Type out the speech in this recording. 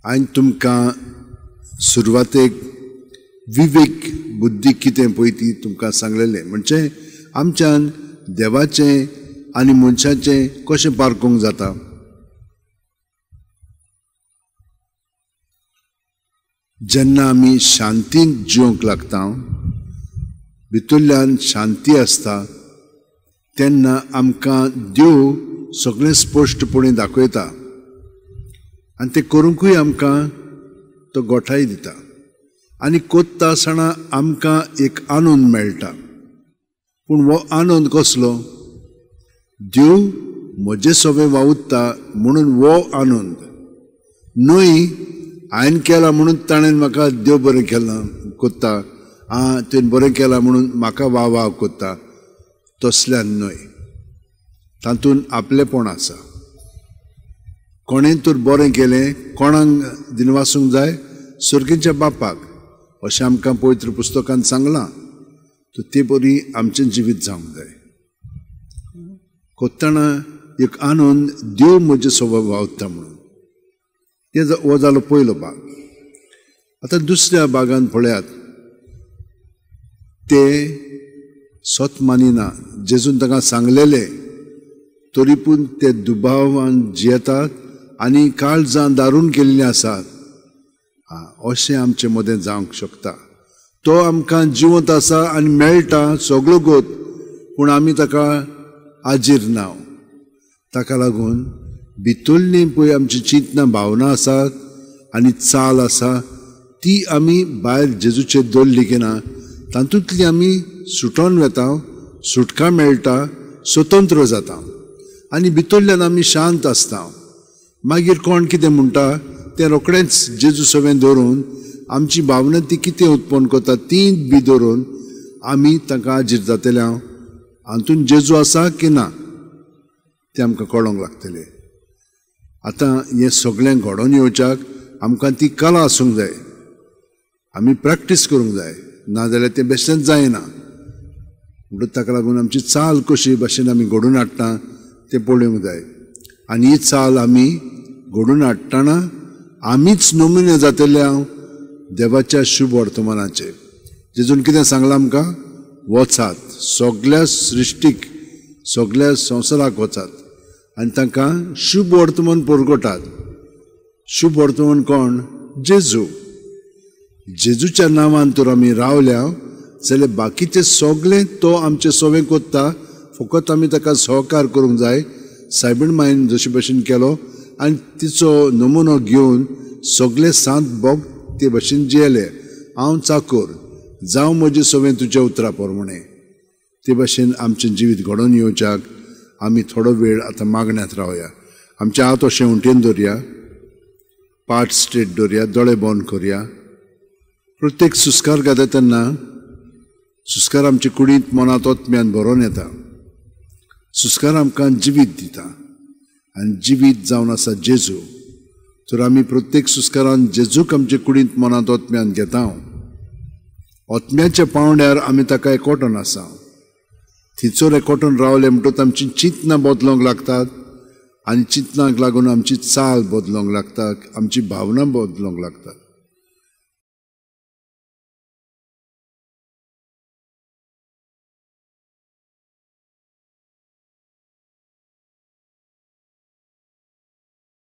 हांवें तुमकां सुरवातेक विवेक बुद्धी कितें पळय ती तुमकां सांगलेलें. म्हणजे आमच्यान देवाचें आनी मनशाचें कशें पारखूंक जाता. जेन्ना आमी शांतीन जिवंक लागता, भितरल्यान शांती आसता, तेन्ना आमकां देव सगळें स्पश्टपणी दाखयता आनी तें करूंकूय आमकां तो गोठाय दिता आनी कोत्ता आसतना आमकां एक आनंद मेळटा. पूण हो आनंद कसलो? देव म्हजे सोबे वावुरता म्हणून हो आनंद न्हय, हांवें केला म्हणून ताणें म्हाका देव बरें केलां कोत्ता, आं तुवें बरें केलां म्हणून म्हाका वा वा कोत्ता, तसल्यान न्हय. तातूंत आपलेपण आसा. कोणें तर बरें केलें, कोणाक दिनवासूंक जाय? सर्गीच्या बापाक, अशें आमकां पवित्र पुस्तकान सांगलां. तर ते बरी आमचें जिवीत जावंक जाय. कोत्ताना एक आनंद देव म्हजे सोबा वावता म्हणून, ते हो जालो पयलो भाग. आतां दुसऱ्या भागान पळयात, ते सत मानिना. जेजून तांकां सांगलेलें तरी पूण ते दुबावान जियेतात आनी काळजां दारून केल्लीं आसात. अशें आमचे मदें जावंक शकता. तो आमकां जिवंत आसा आनी मेळटा सगळो गोत, पूण आमी ताका आजीर ना. ताका लागून भितरलीं पळय आमची चिंतना भावना आसात आनी चाल आसा ती आमी भायर जेजूचेर दवरली की ना, तातूंतली आमी सुटोन वेता, सुटका मेळटा, स्वतंत्र जाता आनी भितरल्यान आमी शांत आसता. मागीर कोण कितें म्हणटा तें रोखडेंच जेजू सवें धरून आमची भावना ती कितें उत्पन्न करता ती बी धरून आमी तांकां आजीर जातले. हांव हातूंत जेजू आसा की ना तें आमकां कळोंक लागतलें. आतां हें सगळें घडोवन येवच्याक आमकां ती कला आसूंक जाय, आमी प्रॅक्टीस करूंक जाय, नाजाल्यार तें बेश्टेंच जायना. म्हणटकच ताका लागून आमची चाल कशी भाशेन आमी घडोवन हाडटा तें पळोवंक जाय. आनी ही चाल आमी घडोवन हाडटना आमीच नमुने जातले हांव देवाच्या शुभ वर्तमानाचेर. जेजून कितें सांगलां आमकां? वचात सगल्या सृश्टीक, सगल्या संवसाराक वचात आनी तांकां शुभ वर्तमान परगटात. शुभ वर्तमान कोण? जेजू. जेजूच्या नांवान तर आमी रावल्या जाल्यार बाकीचें सगळें तो आमचें सवें कोत्ता. फकत आमी ताका सहकार करूंक जाय. सायबीण मायन जशे भशेन केलो आनी तिचो नमुनो घेवन सगळे सांत भोग ते भशेन जियेले. हांव चाकोर जावं म्हजें सवें तुज्या उतरा प्रमाणें. ते भशेन आमचें जिवीत घडोवन येवच्याक आमी थोडो वेळ आतां मागण्यांत रावया. आमचे हात अशें उंटेन दवरया, पाट स्ट्रेट दवरया, दोळे बंद करया. प्रत्येक सुस्कार घाता तेन्ना सुस्कार आमचे कुडींत मनांत आत्म्यान भरोन येता. सुस्कार आमकां जिवीत दिता आनी जिवीत जावन आसा जेजू. तर आमी प्रत्येक सुस्कारान जेजूक आमचे कुडींत मनांत आत्म्यान घेता. आत्म्याच्या पांवड्यार आमी ताका एकवटून आसा. थंयसर एकवटून रावले म्हणटकच आमची चिंतनां बदलूंक लागतात आनी चिंतनाक लागून आमची चाल बदलूंक लागता, आमची भावना बदलूंक लागतात.